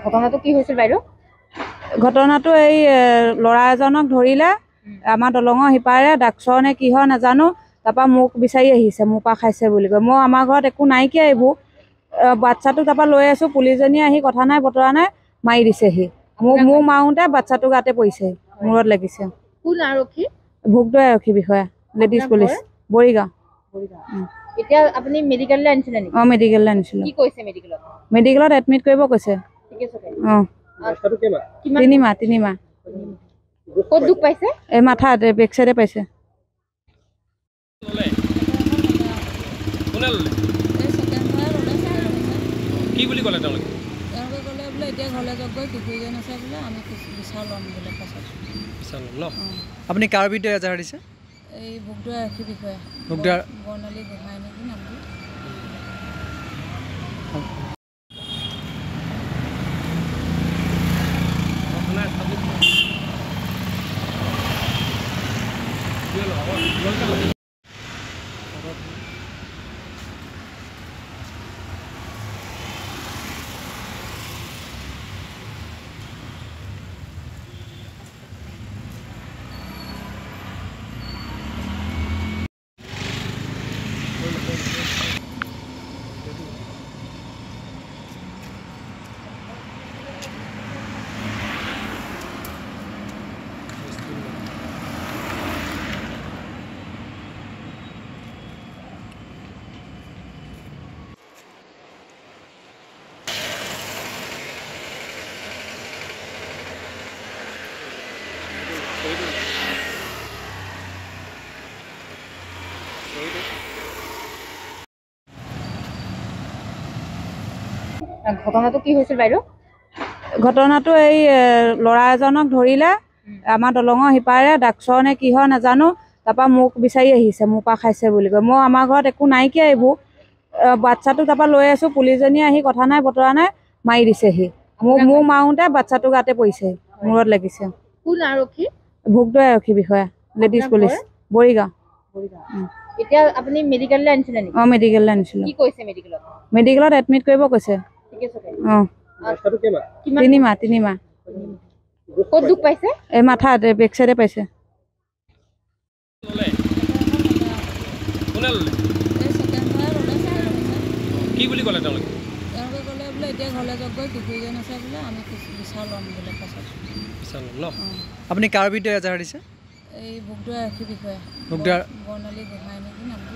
ঘটনাটো কি হৈছিল বাইদেউ? ঘটনাটো এই ল'ৰা এজনক ধৰিলে আমাৰ দলঙৰ সিপাৰে, ডাক্সৰ নে কি হয় নাজানো। তাৰপৰা মোক বিচাৰি আহিছে, মোৰ পৰা খাইছে বুলি কৈ। মই আমাৰ ঘৰত একো নাইকিয়া এইবোৰ। বাচ্ছাটো তাৰপৰা লৈ আছোঁ, পুলিচজনীয়ে আহি কথা নাই বতৰা নাই মাৰি দিছেহি। মোক মাৰোঁতে বাচ্ছাটো গাতে পৰিছে, মূৰত লাগিছে। কোন আৰক্ষী? ভোগদৈ আৰক্ষী বিষয়া, লেডিজ পুলিচ, বৰিগাঁও। এতিয়া আপুনি মেডিকেললৈ আনিছিলে নেকি? অঁ, মেডিকেললৈ আনিছিলোঁ। কি কৈছে মেডিকেলত? মেডিকেলত এডমিট কৰিব কৈছে। অঁ, তিনিমাহ। তিনিমাহ। ক'ত দুখ পাইছে? এই মাথাত, বেক চাইডে পাইছে। কি বুলি ক'লে তেওঁলোকে? তেওঁলোকে ক'লে বোলে এতিয়া ঘৰলৈ যাওকগৈ, কিশোৰীজন আছে বোলে, আমি বিচাৰ ল'ম বোলে পাছত। বিচাৰ ল'ম ন? আপুনি কাৰ বিৰুদ্ধে এজাহাৰ দিছে? এই ভোগদৈ আৰক্ষী বিষয়া, ভোগদৈ বৰ্ণালী গোহাঁই নেকি নামটো। ঘটনাটো কি হৈছিল বাইদেউ? ঘটনাটো এই ল'ৰা এজনক ধৰিলে আমাৰ দলঙৰ সিপাৰে, ডাক্সৰ নে কি হয় নাজানো। তাৰপৰা মোক বিচাৰি আহিছে, মোৰ পৰা খাইছে বুলি কৈ। মই আমাৰ ঘৰত একো নাইকিয়া এইবোৰ। বাচ্ছাটো তাৰপৰা লৈ আছোঁ, পুলিচজনীয়ে আহি কথা নাই বতৰা নাই মাৰি দিছেহি। মোক মাৰোঁতে বাচ্ছাটো গাতে পৰিছে, মূৰত লাগিছে। কোন আৰক্ষী? ভোগদৈ আৰক্ষী বিষয়া, লেডিজ পুলিচ, বৰিগাঁও। এতিয়া আপুনি মেডিকেললৈ আনিছিলে নেকি? অঁ, মেডিকেললৈ আনিছিলোঁ। কি কৈছে মেডিকেলত? মেডিকেলত এডমিট কৰিব কৈছে। অঁ, তিনিমাহ। তিনিমাহ। ক'ত দুখ পাইছে? এই মাথাত, বেক চাইডে পাইছে। কি বুলি ক'লে তেওঁলোকে? তেওঁলোকে ক'লে বোলে এতিয়া ঘৰলৈ যাওকগৈ, কিশোৰীজন আছে বোলে, আমি বিচাৰ ল'ম বোলে পাছত। বিচাৰ ল'ম ন? আপুনি কাৰ বিৰুদ্ধে এজাহাৰ দিছে? এই ভোগদৈ আৰক্ষী বিষয়া, ভোগদৈ বৰ্ণালী গোহাঁই নেকি নামটো।